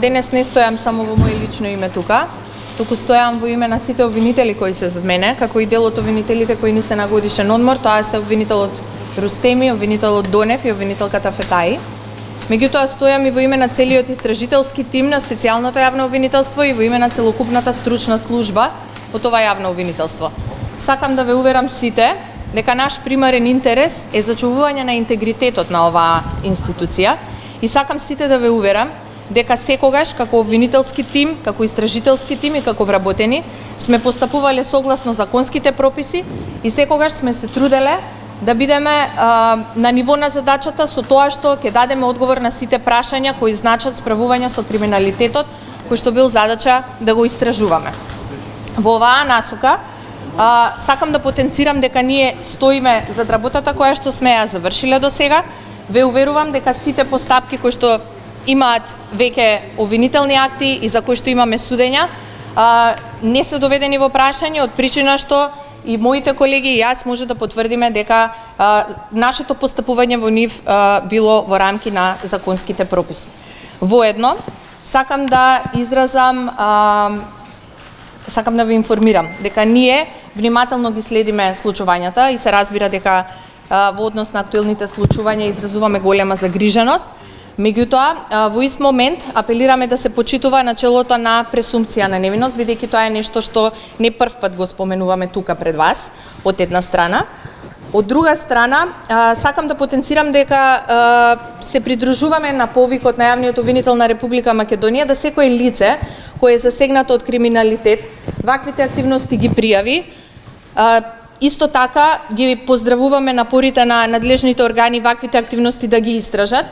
Денес не стојам само во моје лично име тука, туку стојам во име на сите обвинители кои се зад мене, како и дел од обвинителите кои не се на годишен одмор, тоа се обвинителот Рустеми, обвинителот Донев и обвинителката Фетаи. Меѓутоа стојам и во име на целиот истражителски тим на специјалното јавно обвинителство и во име на целокупната стручна служба од ова јавно обвинителство. Сакам да ве уверам сите дека наш примарен интерес е зачувување на интегритетот на оваа институција и сакам сите да ве уверам дека секогаш како обвинителски тим, како истражителски тим и како вработени сме постапувале согласно законските прописи и секогаш сме се труделе да бидеме на ниво на задачата со тоа што ќе дадеме одговор на сите прашања кои значат справување со криминалитетот кој што бил задача да го истражуваме. Во оваа насока сакам да потенцирам дека ние стоиме зад работата која што сме ја завршиле до сега. Ве уверувам дека сите постапки кои што имаат веќе обвинителни акти и за кои што имаме судења не се доведени во прашање од причина што и моите колеги и јас може да потврдиме дека нашето постапување во нив било во рамки на законските прописи. Воедно, сакам да ве информирам дека ние внимателно ги следиме случувањата и се разбира дека во однос на актуелните случувања изразуваме голема загриженост. Меѓутоа, во ист момент апелираме да се почитува начелото на пресумпција на невиност, бидејќи тоа е нешто што не прв пат го споменуваме тука пред вас, од една страна. Од друга страна, сакам да потенцирам дека се придружуваме на повикот на јавниот обвинител на Република Македонија да секое лице кое е засегнато од криминалитет, ваквите активности ги пријави. Исто така ги поздравуваме напорите на надлежните органи ваквите активности да ги истражат.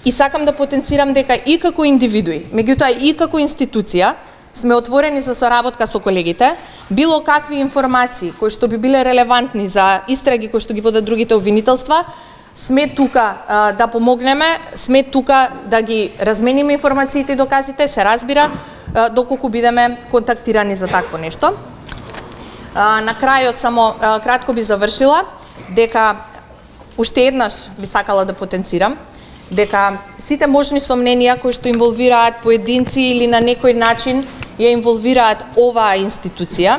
И сакам да потенцирам дека и како индивидуи, меѓутоа и како институција, сме отворени за соработка со колегите, било какви информации кои што би биле релевантни за истраги кои што ги водат другите обвинителства, сме тука да помогнеме, сме тука да ги размениме информациите и доказите, се разбира, доколку бидеме контактирани за такво нешто. На крајот само кратко би завршила дека уште еднаш би сакала да потенцирам дека сите можни сомненија кои што инволвираат поединци или на некој начин ја инволвираат оваа институција,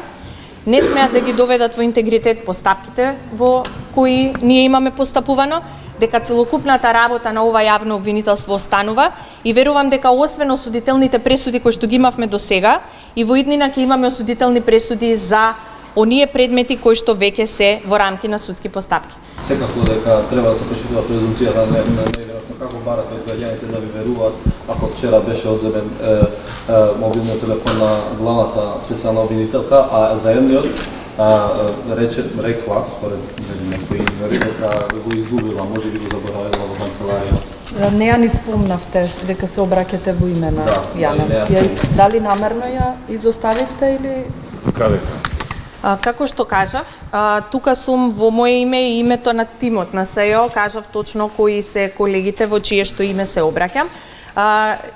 не смеат да ги доведат во интегритет постапките во кои ние имаме постапувано, дека целокупната работа на ова јавно обвинителство останува и верувам дека освен осудителните пресуди кои што ги имавме до сега, и во иднина ќе имаме осудителни пресуди за оние предмети кои што веќе се во рамки на судски постапки. Секако дека треба да се почитува презумпцијата на невиност, но како барате од граѓаните да ви веруваат ако вчера беше одземен мобилниот телефон на главната специјална обвинителка, а заедниот рекла, според некои извори, дека го изгубила, може би го заборавила во канцеларија. Не ја ни спомнавте дека се обраќате во име на Јана. Дали намерно ја изоставивте или... Каде? Како што кажав, тука сум во моје име и името на тимот на СЈО, кажав точно кои се колегите во чие што име се обраќам.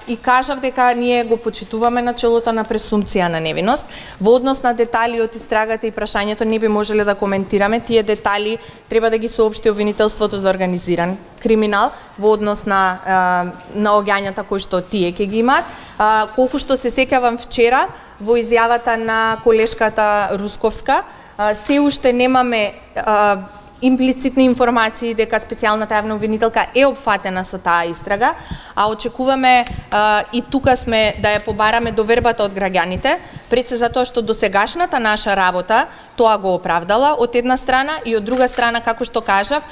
И кажав дека ние го почитуваме начелото на пресумпција на невиност. Во однос на детали од истрагата и прашањето не би можеле да коментираме. Тие детали треба да ги соопшти обвинителството за организиран криминал во однос на наоѓањата кои што тие ќе ги имаат. Колку што се сеќавам вчера, во изјавата на колешката Русковска, се уште немаме имплицитни информации дека специјалната јавна обвинителка е опфатена со таа истрага, а очекуваме и тука сме да ја побараме довербата од граѓаните, пред се затоа што досегашната наша работа тоа го оправдала од една страна и од друга страна, како што кажав,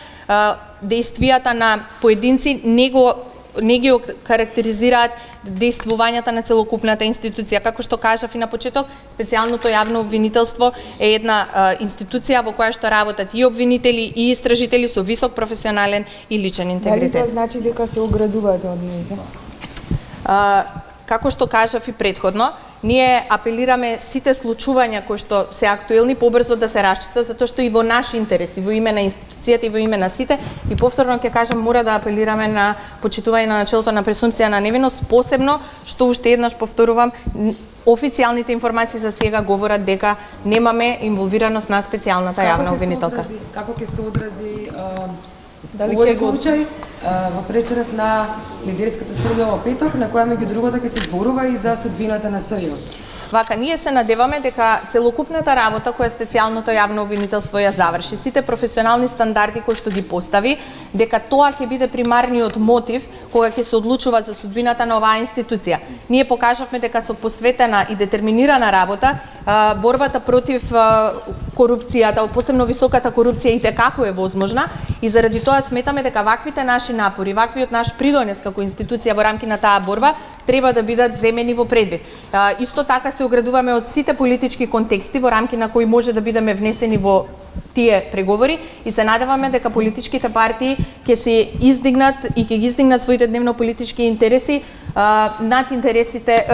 дејствијата на поединци не ги карактеризираат дејствувањата на целокупната институција. Како што кажав и на почеток, специјалното јавно обвинителство е една институција во која што работат и обвинители и истражители со висок професионален и личен интегритет. Дали тоа значи дека се оградувате од нејзе? Како што кажав и претходно, ние апелираме сите случувања кои што се актуелни побрзо да се расчистат, затоа што и во наш интерес, и во име на институцијата, и во име на сите, и повторно ќе кажам, мора да апелираме на почитување на начелото на пресумпција на невиност, посебно што уште еднаш повторувам, официјалните информации за сега говорат дека немаме инволвираност на специјалната јавна обвинителка. Како ќе се одрази Овој случај во пресудот на лидерската среда во петок, на која меѓу другото ќе се зборува и за судбината на СЈО. Вака, ние се надеваме дека целокупната работа која специјалното јавно обвинителство ја заврши, сите професионални стандарди кои што ги постави, дека тоа ќе биде примарниот мотив кога ќе се одлучува за судбината на оваа институција. Ние покажавме дека со посветена и детерминирана работа, борбата против корупцијата, посебно високата корупција и како е возможна, и заради тоа сметаме дека ваквите наши напори, ваквиот наш придонес како институција во рамки на таа борба треба да бидат земени во предвид. Исто така се оградуваме од сите политички контексти во рамки на кои може да бидеме внесени во тие преговори и се надеваме дека политичките партии ќе се издигнат и ќе ги издигнат своите дневно-политички интереси над интересите,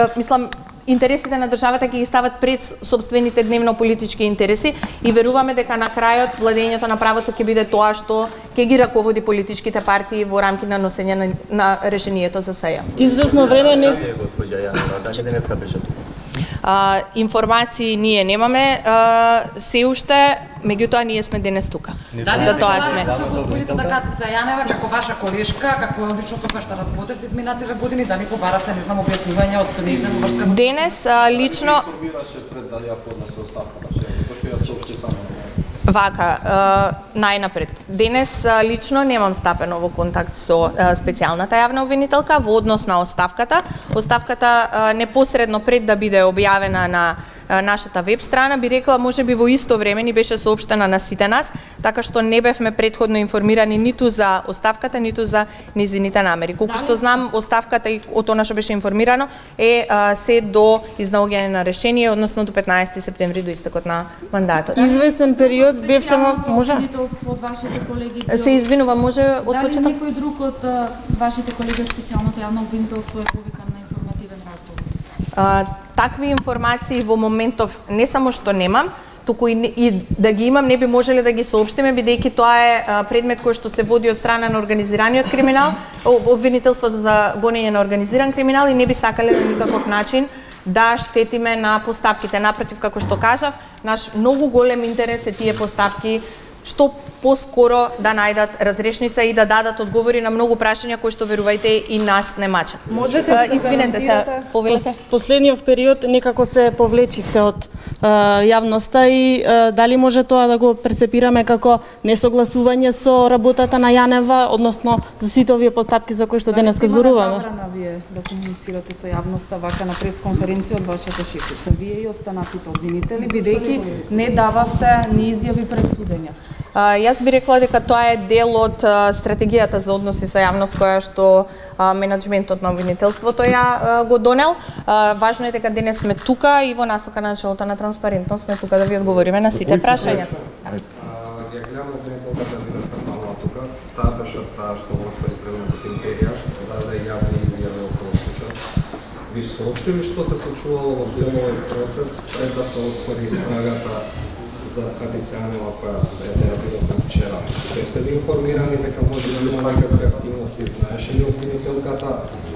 интересите на државата ќе ги стават пред собствените дневно-политички интереси и веруваме дека на крајот владењето на правото ќе биде тоа што ќе ги раководи политичките партии во рамки на носење на решението за СЈО. Известно време не денеска беше тука. Информации ние немаме се уште, меѓутоа ние сме денес тука. За тоа сме. Господината Катица Јанева, како ваша колешка, како лично со која што работите изминатите години, дали побарате, не знам, објаснување од нејзина врска? Денес лично информираше пред да ја позна со оставката, што ја соопшти само. Вака, најнапред. Денес лично немам стапено во контакт со специјалната јавна обвинителка во однос на оставката. Оставката непосредно пред да биде објавена на нашата веб страна, би рекла можеби во исто време ни беше соопштена на сите нас, така што не бевме претходно информирани ниту за оставката, ниту за низините намери. Колку што знам, оставката и од она што беше информирано е се до изнаоѓање на решение, односно до 15 септември, до истекот на мандатот. Известен период бевте може? Од вашите колеги. Се извинувам, може од почеток? Дали некој друг од вашите колеги од специјалното јавно обвинителство е повикан на информативен разговор? Такви информации во моментов не само што немам, туку и да ги имам не би можеле да ги соопштиме, бидејќи тоа е предмет кој што се води од страна на организираниот криминал, обвинителството за гонење на организиран криминал, и не би сакале на никаков начин да штетиме на постапките. Напротив, како што кажав, наш многу голем интерес е тие постапки што поскоро да најдат разрешница и да дадат одговори на многу прашања кои што, верувајте, и нас не мачат. Можете да извинете се, повелете. Последниот период некако се повлечивте од јавноста и дали може тоа да го прецепираме како несогласување со работата на Јанева, односно за сите овие постапки за кои што денеска зборуваме? Забрана вие да комуницирате со јавноста вака на пресконференција од вашата шефица. Вие и останатите обвинители, бидејќи не дававте ни изјави пред судење. Јас би рекла дека тоа е дел од стратегијата за односи со јавност која што менеджментот на обвинителството ја го донел. Важно е дека денес сме тука и во насока на началото на транспарентност сме тука да ви одговориме на сите прашања. Ја гледам обвинителката денеска мала тука, таа беше таа што во свој предметот империја, да даде јавни изјави околу случајот. Ви соопштили што се случувало во целиот процес пред да се отвори истрагата за Катица Јанева која ја видовме вчера. Сте ли информирани дека може да има некакви активности, знаеше ли обвинителката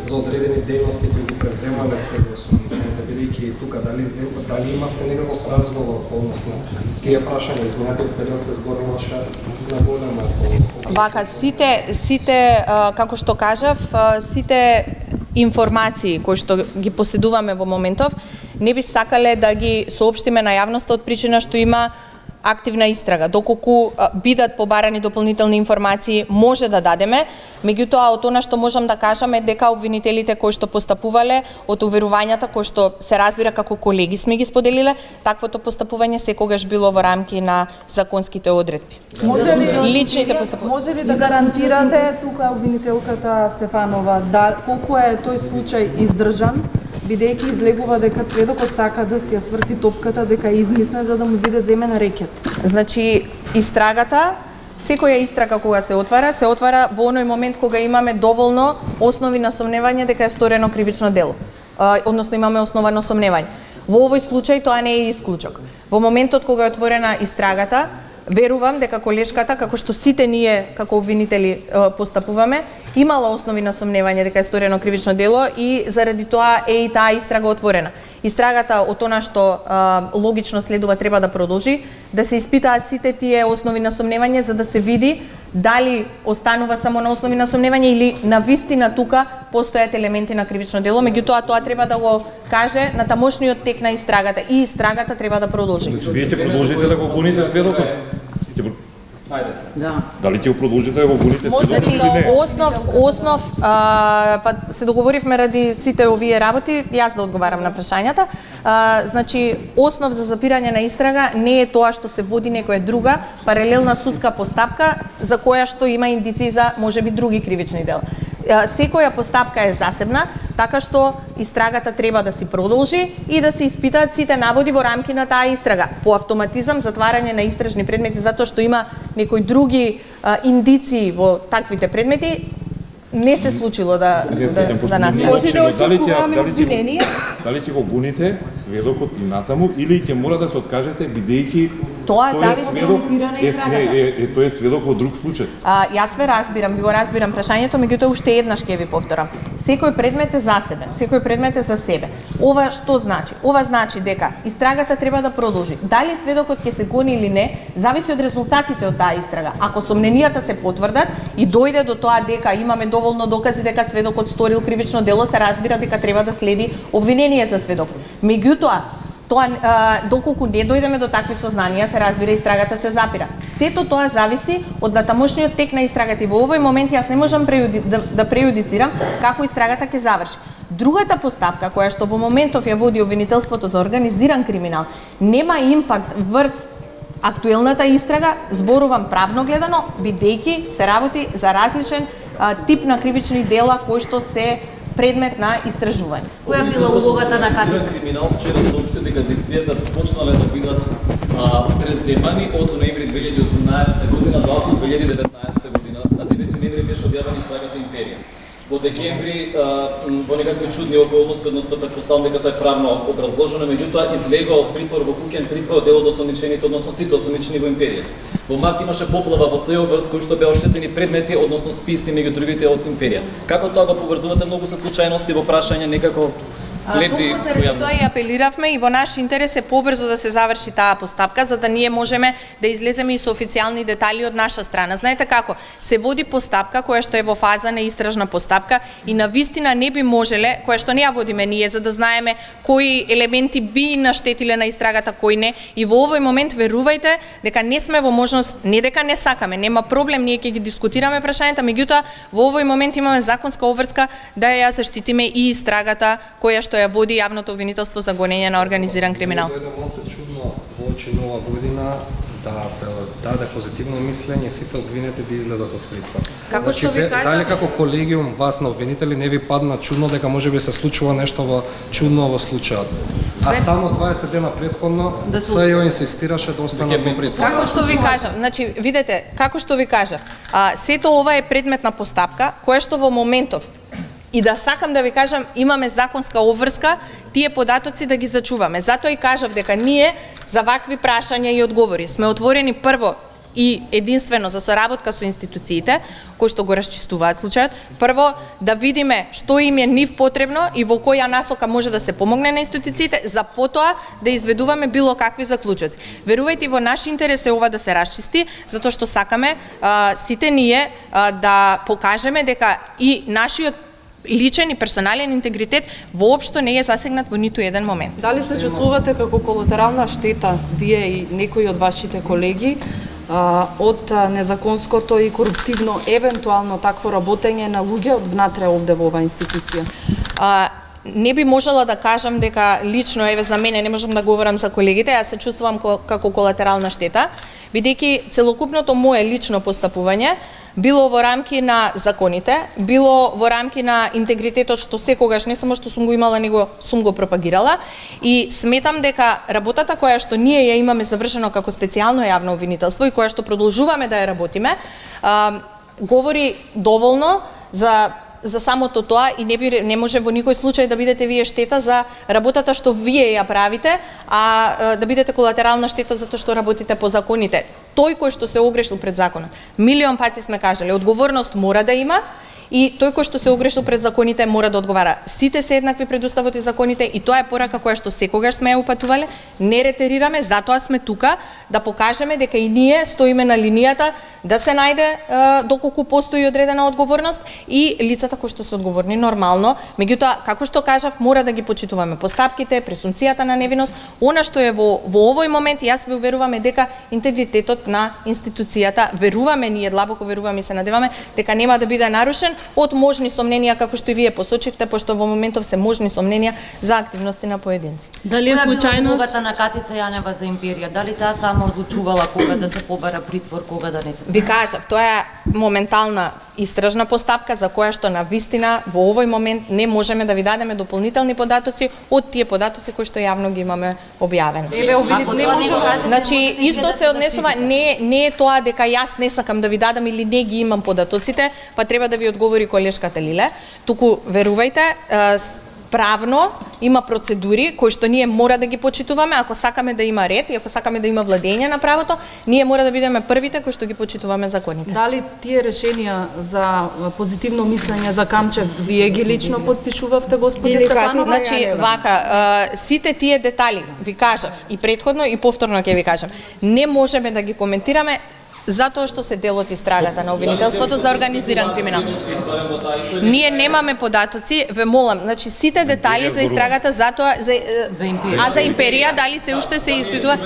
за одредени дејности кои ги преземале сега осумничените, бидејќи тука дали имавте некаков разговор односно тие прашања изминатиот период се зборуваше на голема Вака, сите како што кажав, сите информации кои што ги поседуваме во моментов, не би сакале да ги соопштиме на јавноста од причина што има активна истрага. Доколку бидат побарани дополнителни информации, може да дадеме, меѓутоа од она што можам да кажам е дека обвинителите кои што постапувале од уверувањата кои што се разбира како колеги сме ги споделиле, таквото постапување секогаш било во рамки на законските одредби. Може ли да гарантирате тука обвинителката Стефанова колку е тој случај издржан, бидејќи излегува дека сведокот сака да си ја сврти топката, дека е измислен за да му биде земен рекет? Значи, истрагата, секоја истрага кога се отвара во оној момент кога имаме доволно основи на сомневање дека е сторено кривично дело. Односно имаме основано сомневање. Во овој случај тоа не е исклучок. Во моментот кога е отворена истрагата, верувам дека колешката, како што сите ние како обвинители постапуваме, имала основи на сомневање дека е сторено кривично дело и заради тоа е и таа истрага отворена. Истрагата од она што логично следува треба да продолжи, да се испитаат сите тие основи на сомневање за да се види дали останува само на основи на сомневање или на вистина тука постојат елементи на кривично дело, меѓутоа тоа треба да го каже на тамошниот тек на истрагата и истрагата треба да продолжи. Значи вие ќе продолжите да го гоните сведокот? Да. Дали ќе го продолжите да го гоните сведокот Значи, или не? основ, па се договоривме ради сите овие работи, јас да одговарам на прашањата. Значи, основ за запирање на истрага не е тоа што се води некоја друга паралелна судска постапка за која што има индиции за можеби други кривични дела. Секоја постапка е засебна, така што истрагата треба да си продолжи и да се испитаат сите наводи во рамки на таа истрага. По автоматизам затварање на истражни предмети затоа што има некои други индиции во таквите предмети не се случило да настане. Може да очекуваме обвинение? Дали ќе го гоните сведокот и натаму или ќе мора да се откажете бидејќи тоа зависи од запиране и тој е сведок во друг случај. Јас ве разбирам, ви го разбирам прашањето, меѓутоа уште еднаш ќе ви повторам. Секој предмет е засебен, секој предмет е за себе. Ова што значи? Ова значи дека истрагата треба да продолжи. Дали сведокот ќе се гони или не, зависи од резултатите од таа истрага. Ако сомненијата се потврдат и дојде до тоа дека имаме доволно докази дека сведокот сторил кривично дело, се разбира дека треба да следи обвинение за сведок. Меѓутоа, тоа доколку не дојдеме до такви сознанија, се разбира истрагата се запира. Сето тоа зависи од натамошниот тек на истрагата и во овој момент јас не можам да преюдицирам како истрагата ќе заврши. Другата постапка која што во моментов ја води обвинителството за организиран криминал нема импакт врз актуелната истрага, зборувам правно гледано, бидејќи се работи за различен тип на кривични дела кои што се предмет на истражување. Која била улогата на КАТ? Криминал вчера соопшти дека действијата почнале да бидат преземани од ноември 2018 година до април 2019 година, на 9 ноември беше објавена истрагата Империја. Во декември во некакви чудни околности, односно претпоставам дека тоа е правно образложено, меѓутоа излегува од притвор во куќен притвор дел од осомничените, односно сите осомничени во Империја. Во март имаше поплава во СЈО врз кои што беа оштетени предмети, односно списи меѓу другите од Империја. Како тоа го поврзувате многу со случајности во прашање некако лепти Токму тоа и апелиравме и во наш интерес е побрзо да се заврши таа постапка за да ние можеме да излеземе и со официјални детали од наша страна. Знаете како, се води постапка која што е во фаза на истражна постапка и на вистина не би можеле, која што не ја водиме ние за да знаеме кои елементи би наштетиле на истрагата, кои не. И во овој момент верувајте дека не сме во можност, не дека не сакаме, нема проблем, ние ќе ги дискутираме прашањата, меѓутоа во овој момент имаме законска обврска да ја заштитиме и истрагата која што ја води јавното обвинителство за гонење на организиран криминал. Дојде малце чудно воочи нова година да се даде позитивно мислење сите обвинети да излезат од притвор. Како што ви кажам, дали како колегиум вас на обвинители не ви падна чудно дека можеби се случува нешто во чудно во случајот? А само 20 дена претходно СЈО инсистираше да останат во притвор. Како што ви кажам, значи видете, како што ви кажав, сето ова е предмет на постапка која што во моментов и да сакам да ви кажам, имаме законска обврска, тие податоци да ги зачуваме. Затоа и кажав дека ние за вакви прашања и одговори сме отворени прво и единствено за соработка со институциите, кои што го расчистуваат случајот. Прво, да видиме што им е нив потребно и во која насока може да се помогне на институциите, за потоа да изведуваме било какви заклучоци. Верувајте, во наш интерес е ова да се расчисти, затоа што сакаме сите ние да покажеме дека и нашиот личен и персонален интегритет воопшто не е засегнат во ниту еден момент. Дали се чувствувате како колатерална штета вие и некои од вашите колеги од незаконското и коруптивно евентуално такво работење на луѓе од внатре овде во оваа институција? Не би можела да кажам дека лично еве за мене, не можам да говорам за колегите, јас се чувствувам како колатерална штета, бидејќи целокупното мое лично постапување било во рамки на законите, било во рамки на интегритетот што секогаш не само што сум го имала, него сум го пропагирала и сметам дека работата која што ние ја имаме завршено како специјално јавно обвинителство и која што продолжуваме да ја работиме, говори доволно за самото тоа и не може во никој случај да бидете вие штета за работата што вие ја правите, а да бидете колатерална штета затоа што работите по законите. Тој кој што се огрешил пред законот. Милион пати сме кажале, одговорност мора да има и тој кој што се огрешил пред законите мора да одговара. Сите се еднакви пред уставот и законите и тоа е порака која што секогаш сме ја упатувале, не ретерираме, затоа сме тука да покажеме дека и ние стоиме на линијата да се најде доколку постои одредена одговорност и лицата кои што се одговорни нормално, меѓутоа како што кажав мора да ги почитуваме постапките, презумцијата на невиност, она што е во овој момент јас ве уверуваме дека интегритетот на институцијата, веруваме ние, длабоко веруваме и се надеваме дека нема да биде нарушен од можни сомненија како што и вие посочивте, пошто во моментов се можни сомненија за активности на поединци. Дали е случајно улогата на Катица Јанева за империја? Дали таа само одлучувала кога да се побара притвор, кога да не се? Ви кажав, тоа е моментална истражна постапка за која што на вистина во овој момент не можеме да ви дадеме дополнителни податоци од тие податоци кои што јавно ги имаме објавено. Не можеме. Значи исто се однесува, не е тоа дека јас не сакам да ви дадам или не ги имам податоците, па треба да ви одговори колешката Лиле. Туку верувајте, правно има процедури кои што ние мора да ги почитуваме, ако сакаме да има ред и ако сакаме да има владење на правото, ние мора да бидеме првите кои што ги почитуваме законите. Дали тие решенија за позитивно мислење за Камчев вие ги лично подпишувавте, господи Стефанова? Значи, вака, сите тие детали, ви кажав и претходно и повторно ќе ви кажам, не можеме да ги коментираме затоа што се дел од истрагата на обвинителството за организиран криминал. Ние немаме податоци, ве молам, значи сите детали за истрагата затоа за империја дали се уште се испитува.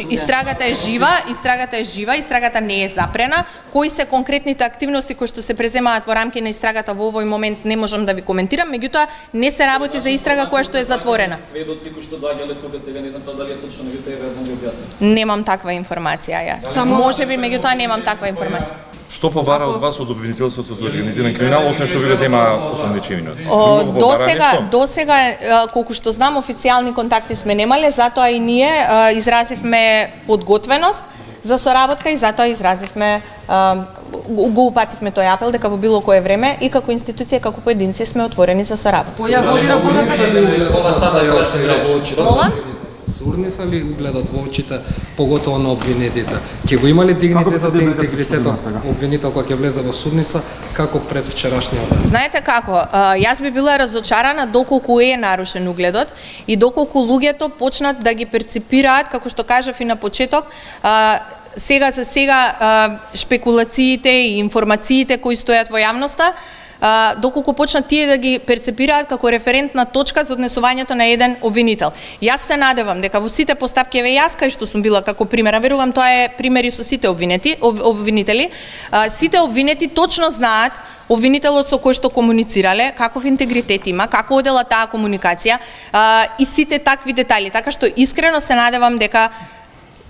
Истрагата е жива, истрагата не е запрена. Кои се конкретните активности кои што се преземаат во рамки на истрагата во овој момент не можам да ви коментирам, меѓутоа не се работи за истрага која што е затворена. Сведоци кои што доаѓале тука сега не знам дали е точно, меѓутоа еве да ми објасните. Немам таква информација јас. Можеби меѓутоа немам таква информација. Што побара од вас од обвинителството за организиран криминал, освен што ви го зема осомничевината? До сега, колку што знам, официјални контакти сме немале, затоа и ние изразивме подготвеност за соработка и затоа изразивме го упативме тој апел дека во било кое време и како институција, како поединци сме отворени за соработка. Сурни са ли угледот во очите, поготово на обвинетите? Ќе го има ли дигнитетот и интегритетот обвинител кога ќе влезе во судница, како пред вчерашниот ден? Знаете како, јас би била разочарана доколку е нарушен угледот и доколку луѓето почнат да ги перципираат, како што кажав и на почеток, сега за сега шпекулациите и информациите кои стојат во јавноста, доколку почнат тие да ги перцепираат како референтна точка за однесувањето на еден обвинител. Јас се надевам дека во сите постапки, еве јас кај што сум била како пример, верувам тоа е примери со сите обвинители, сите обвинети точно знаат обвинителот со кој што комуницирале, каков интегритет има, како одела таа комуникација и сите такви детали, така што искрено се надевам дека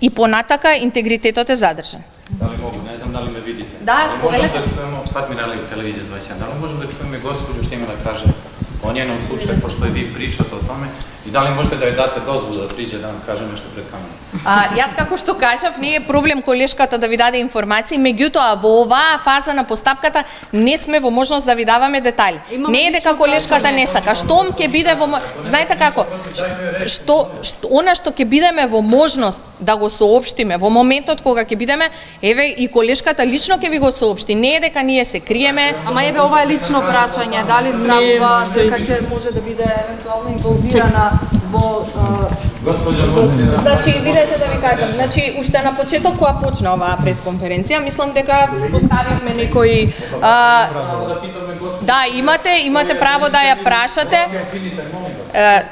и понатака интегритетот е задржан. Дали могу, не знам дали ме видите. Да, повелете. Можем да чуеме од Фатмир Али телевизија 21. Дали можем да чуеме господју што има да каже о нjenom случај, пошто и ви причате о томе, и дали можете да ја дадете дозвола да приđe да нам каже нешто пред камера? Јас како што кажав, не е проблем колешката да ви даде информации, меѓутоа во оваа фаза на постапката не сме во можност да ви даваме детали. Не е дека колешката не сака. Штом ќе биде во знаете како? Она што ќе бидеме во можност да го соопштиме во моментот кога ќе бидеме, еве и колешката лично ќе ви го соопшти. Не е дека ние се криеме. Ама еве ова е лично прашање, дали стравува дека ќе може да биде евентуално инволвирана во Значи, видете да ви кажам, значи уште на почеток кога почна оваа пресконференција, мислам дека поставивме некои да, имате право да ја прашате.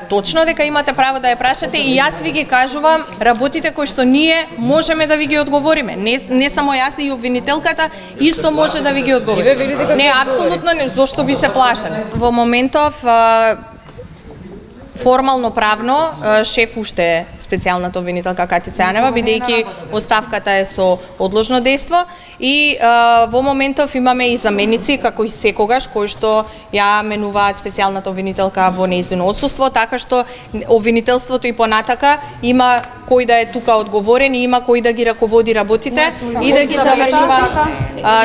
Точно дека имате право да ја прашате и јас ви ги кажувам работите кои што ние можеме да ви ги одговориме. Не само јас, и обвинителката исто може да ви ги одговори. Не, апсолутно не, зошто би се плашале. Во моментов формално правно шеф уште е специјалната обвинителка Катица Јанева, бидејќи оставката е со одложно дејство и во моментов имаме и заменици како и секогаш кои што ја менуваат специјалната обвинителка во нејзино отсуство, така што обвинителството и понатака има кој да е тука одговорен и има кој да ги раководи работите и да ги завршува.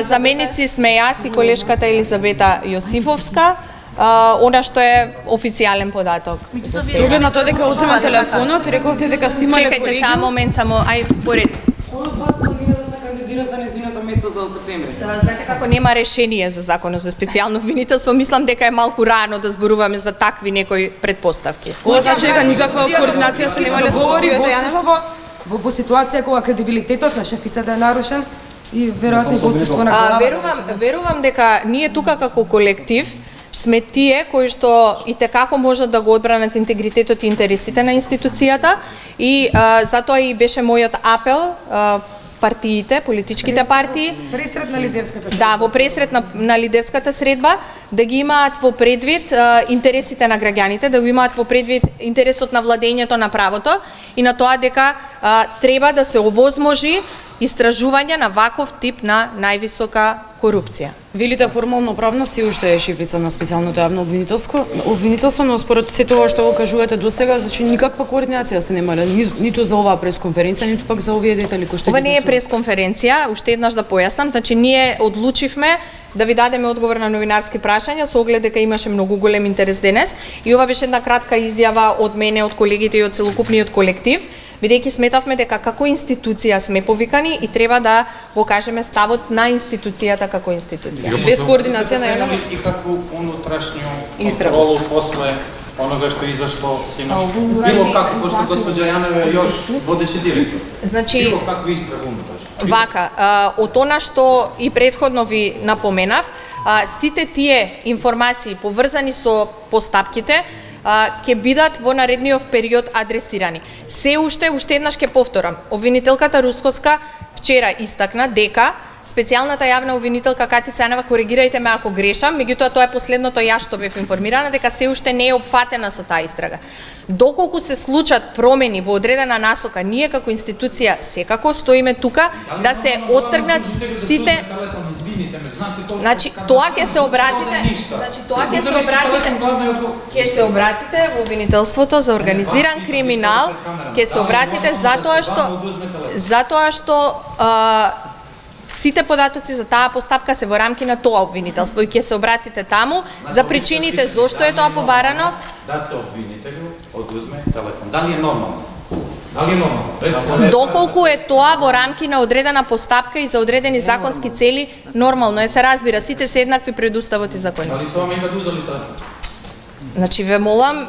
Заменици сме јас и колешката Елизабета Јосифовска. Она што е официјален податок. Соглед на тоа дека одзема телефонот, рековте дека сте имале колегиум. Чекајте само момент, ај поред. Кој од вас планира да се кандидира за нејзиното место за за септември. Знаете како нема решение за законот за специјално обвинителство, мислам дека е малку рано да зборуваме за такви некои предпоставки. Ова значи дека никаква координација се нема да говори во ситуација кога кредибилитетот на шефицата е нарушен и веројатно и водството на глава. Верувам дека ние тука како колектив сме тие кои што и текако можат да го одбранат интегритетот и интересите на институцијата и затоа и беше мојот апел партиите, политичките партии, пресрет на лидерската средба. Да, во пресрет на лидерската средба, да ги имаат во предвид интересите на граѓаните, да го имаат во предвид интересот на владењето на правото и на тоа дека треба да се овозможи истражување на ваков тип на највисока корупција. Велите формално правно се уште е шефица на специјалното јавно обвинителство, но според се тоа што го кажувате досега, значи никаква координација сте немале, ниту за оваа пресконференција, ниту пак за овие детали кои што ова не е пресконференција, уште еднаш да појаснам, значи ние одлучивме да ви дадеме одговор на новинарски прашања со оглед дека имаше многу голем интерес денес и ова беше една кратка изјава од мене, од колегите и од целокупниот колектив, бидејќи сметавме дека како институција сме повикани и треба да го кажеме ставот на институцијата како институција. Без координација на јавно и какву унутрешњу контролу после онога што изашло синош. Било како, пошто госпоѓа Јанева још водеше директор. Значи, било каква истрага унутрешна. Вака, од она што и претходно ви напоменав, сите тие информации поврзани со постапките ќе бидат во наредниот период адресирани. Се уште еднаш ќе повторам, обвинителката Русковска вчера истакна дека специјалната јавна обвинителка Катица Јанева, коригирајте ме ако грешам, меѓутоа тоа е последното јас што бев информирана дека се уште не е опфатена со таа истрага. Доколку се случат промени во одредена насока, ние како институција секако стоиме тука да се оттргнат сите. Значи тоа ќе се обратите, во обвинителството за организиран криминал, ќе се обратите затоа што сите податоци за таа постапка се во рамки на тоа обвинителство и ќе се обратите таму за причините зошто е тоа побарано. Да се обвинителю одузме телефон. Дали е нормално? Дали е нормално? Доколку е тоа во рамки на одредена постапка и за одредени законски цели, нормално е, се разбира, сите се еднакви пред уставот и законот. Дали со вами имате узели телефон? Значи ве молам,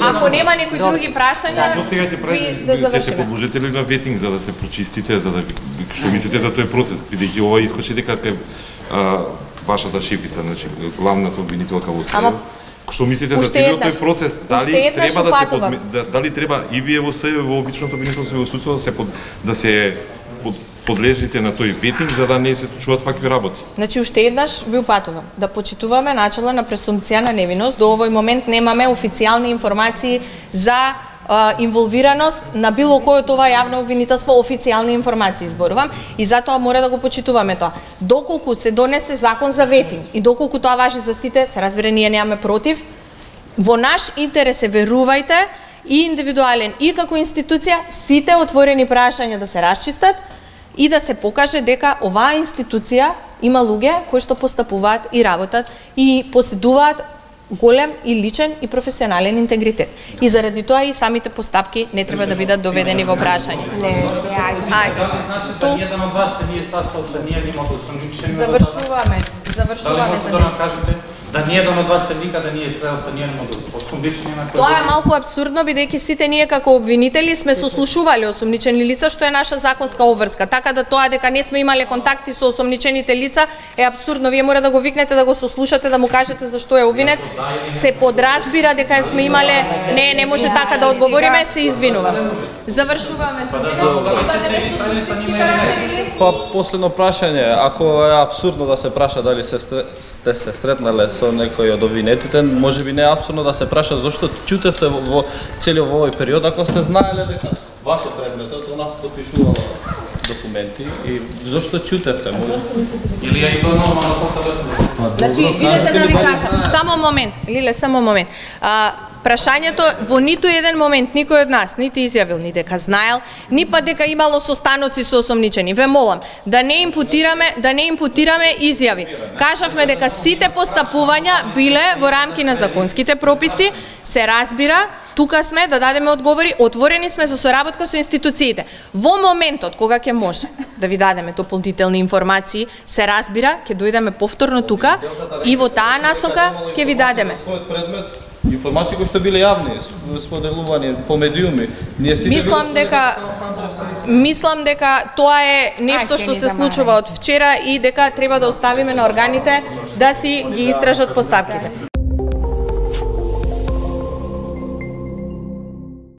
ако нема некои други прашања, Што сега ќе се подложите ли на ветинг за да се прочистите, за да што мислите за тој процес, бидејќи ова искаше дека е вашата шефица, значи главната обвинителка во СЕО. Што мислите за целиот тој процес? Дали треба и вие во СЕО во обичното обвинителство во судството да се подлежите на тој ветинг за да не се случуваат вакви работи? Значи уште еднаш ви упатувам да почитуваме начела на пресумпција на невиност. До овој момент немаме официјални информации за инволвираност на било кој од ова јавно обвинителство, официјални информации зборувам и затоа мора да го почитуваме тоа. Доколку се донесе закон за ветинг и доколку тоа важи за сите, се разбира ние немаме против, во наш интерес е, верувајте, и индивидуален и како институција, сите отворени прашања да се расчистат и да се покаже дека оваа институција има луѓе кои што постапуваат и работат и поседуваат голем и личен и професионален интегритет. И заради тоа и самите постапки не треба да бидат доведени во прашање. Значи да ниједен од вас се не е састал се ние нема да осомничени. Завршуваме за да кажете да ниједен од вас се никаде не е срел се ние нема да осомничени на кој. Тоа е малку апсурдно бидејќи сите ние како обвинители сме сослушувале осомничени лица што е наша законска обврска. Така да тоа дека не сме имале контакти со осомничените лица е апсурдно. Вие мора да го викнете да го сослушате, да му кажете зашто е обвинет. Се подразбира дека сме имале не може така да одговориме, се извинувам. Завршуваме Па последно прашање, ако е апсурдно да се праша дали сте се сретнале со некој од обвинетите, можеби не е апсурдно да се праша зошто ќутевте во целиот овој период, ако сте знаеле дека вашиот предметот она подпишувала документи и зошто ќутевте може? Или е и тоа нормално покажете? Значи, видете да ви кажам, само момент. Прашањето во ниту еден момент никој од нас нити изјавил ни дека знаел, ни па дека имало состаноци со осомничени. Ве молам да не импутираме изјави. Кажавме дека сите постапувања биле во рамки на законските прописи, се разбира, тука сме да дадеме одговори, отворени сме за соработка со институциите. Во моментот кога ќе може да ви дадеме дополнителни информации, се разбира, ќе дојдеме повторно тука и во таа насока ќе ви дадеме. Информации кои што биле јавни, споделувани по медиуми. Мислам дека тоа е нешто што се случува од вчера и дека треба да оставиме на органите да си ги истражат постапките.